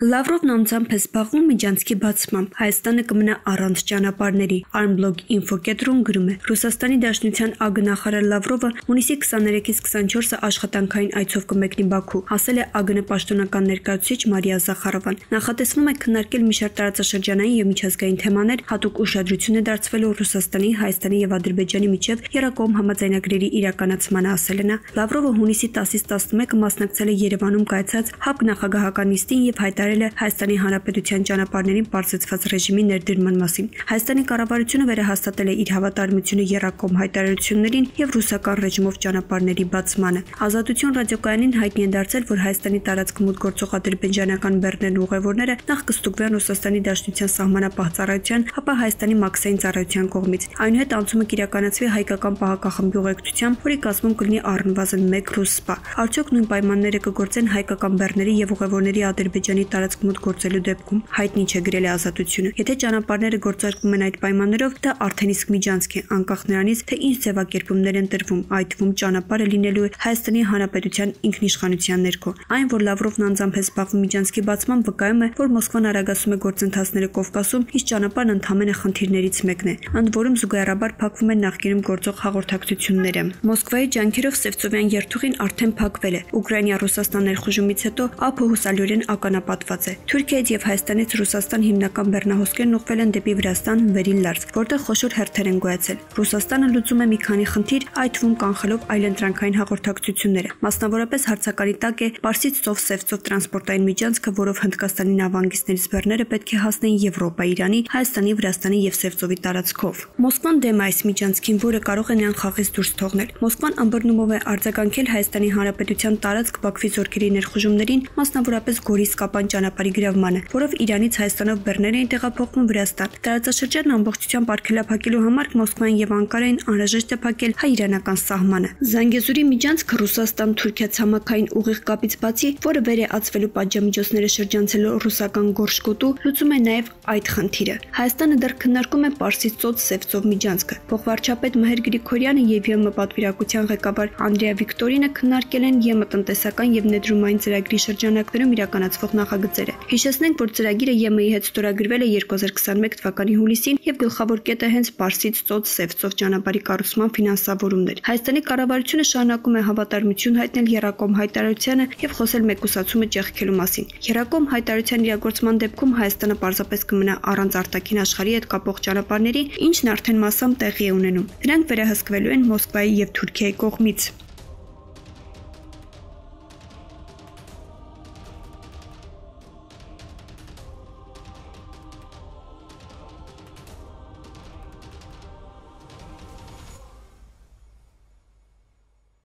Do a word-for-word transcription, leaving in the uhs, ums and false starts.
Լավրովն անձամբ է զբաղվում միջանցքի բացմամբ, Հայաստանը կմնա առանց ճանապարհների։ Armblog Info կետրոն գրում է. Ռուսաստանի Դաշնության ԱԳ նախարար Լավրովը հունիսի քսաներեքից քսանչորսը աշխատանքային այցով կմեկնի Բաքու, ասել է ԱԳՆ պաշտոնական ներկայացուցիչ Մարիա Զախարովան։ Նախատեսվում է քննարկել մի շարք տարածաշրջանային եւ միջազգային թեմաներ, հատուկ ուշադրություն է դարձվելու Ռուսաստանի, Հայաստանի եւ Ադրբեջանի միջև երկկողմ համաձայնագրերի իրականացմանը, ասել է նա։ Լավրովը հունիսի տասից տասնմեկը մասնակցել է Երևանում կայացած ՀԱՊԿ նախագահական նիստին եւ հայտարարել է Հայաստանի Հանրապետության ճանապարհներին պարզեցված ռեժիմի ներդրման մասին։ Հայաստանի կառավարությունը վերահաստատել է իր հավատարմությունը եռակողմ հայտարարություններին եւ ռուսական ռեժիմով ճանապարհների բացմանը։ Ազատություն ռադիոկայանին հայտնի է դարձել, որ Հայաստանի տարածք մուտք գործող ադրբեջանական բեռներն ու ուղևորները նախ կստուգվեն Ռուսաստանի Դաշնության սահմանապահ ծառայության, ապա Հայաստանի մաքսային ծառայության կողմից։ Այնուհետ անցումը կիրականացվի հայկական պահակախմբի ուղեկցությամբ, որի կազմում կլինի առնվազն մեկ ռուս սպա։ Արդյոք նույն պայմանները կգործեն հայկական բեռների եւ ուղևորների Ադրբեջանի տարածք մուտք գործելու դեպքում, հայտնի չէ, գրել է Ազատությունը։ Եթե ճանապարհները գործարկվում են այդ պայմաններով, դա արդեն իսկ միջանցք է, անկախ նրանից, թե ինչ ձևակերպումներ են տրվում, այդ թվում ճանապարհը լինելու է Հայաստանի Հանրապետության ինքնիշխանության ներքո։ Այն, որ Լավրովն անձամբ է զբաղվում միջանցքի բացմամբ, վկայում է, որ Մոսկվան արագացում է գործընթացները Կովկասում, իսկ ճանապարհն ընդհանրապես խնդիրներից մեկն է, ընդ որում զուգահեռաբար փակվում են նախկինում գործող հաղորդակցությունները։ Մոսկվայի ջանքերով Սևծովյան երթուղին արդեն փակվել է։ Ուկրաինա-Ռուսաստան ներխուժումից հետո ԱՓ հուսալիորեն ականապատված է։ Թուրքիայից եւ Հայաստանից Ռուսաստան հիմնական բեռնահոսքերն ուղղվել են դեպի Վրաստան, Վերին Լարց, որտեղ խոշոր հերթեր են գոյացել։ Ռուսաստանը լուծում է մի քանի խնդիր, այդ թվում կանխելով այլընտրանքային հաղորդակցությունները։ Մասնավորապես հարցականի տակ է Պարսից ծով Սևծով տրանսպորտային միջանցքը, որով Հնդկաստանի նավահանգիստներից բեռները պետք է հասնեին Եվրոպա, Իրանի, Հայաստանի, Վրաստանի եւ Սևծովի տարածքով։ Մոսկվան դեմ է այս միջանցքին, որը կարող է նրան խաղից դուրս թողնել։ Մոսկվան ըմբռնումով է արձագանքել Հայաստանի Հանրապետության տարածք Բաքվի զորքերի ներխուժումներին, մասնավորապես Գորիս-Կապան ճանապարհի գրավմանը, որով Իրանից Հայաստանով բեռներ էին տեղափոխվում Վրաստան։ Տարածաշրջանն ամբողջությամբ արգելափակելու համար Մոսկվան եւ Անկարային անհրաժեշտ է փակել հայ-իրանական սահմանը։ Զանգեզուրի միջանցքը Ռուսաստան-Թուրքիա ցամաքային ուղիղ կապից բացի, որը վեր է ածվելու պատժամիջոցները շրջանցելու ռուսական Գորշկոտու, լուծում է նաեւ այդ խնդիրը։ Հայաստանը դեռ քննարկում է Պարսից ծոց Սևծով միջանցքը։ Փոխվարչապետ Մհեր Գրիգորյանը եւ ԵՄ պատվիրակության ղեկավար Անդրեա Վիկտորինը քննարկել են ԵՄ տնտեսական եւ ներդրումային ծրագրի շրջանակներում իրականացվող նախագծերը։ Հիշեցնենք, որ ծրագիրը ԵՄ-ի հետ ստորագրվել է երկու հազար քսաներեք թվականի հուլիսին եւ գլխավոր կետը հենց Պարսից ծոց Սևծով ճանապարհի կառուցման ֆինանսավորումն էր։ Հայաստանի կառավարությունը շարունակում է հավատարմություն հայտնել եռակողմ հայտարարությանը եւ խոսել մեկուսացումը ճեղքելու մասին։ Եռակողմ հայտարարության իրագործման դեպքում Հայաստանը պարզապես կմնա առանց արտաքին աշխարհի հետ կապող ճանապարհների, ինչն արդեն մասամբ տեղի է ունենում։ Դրանք վերահսկվելու են Մոսկվայի եւ Թուրքիայի կողմից։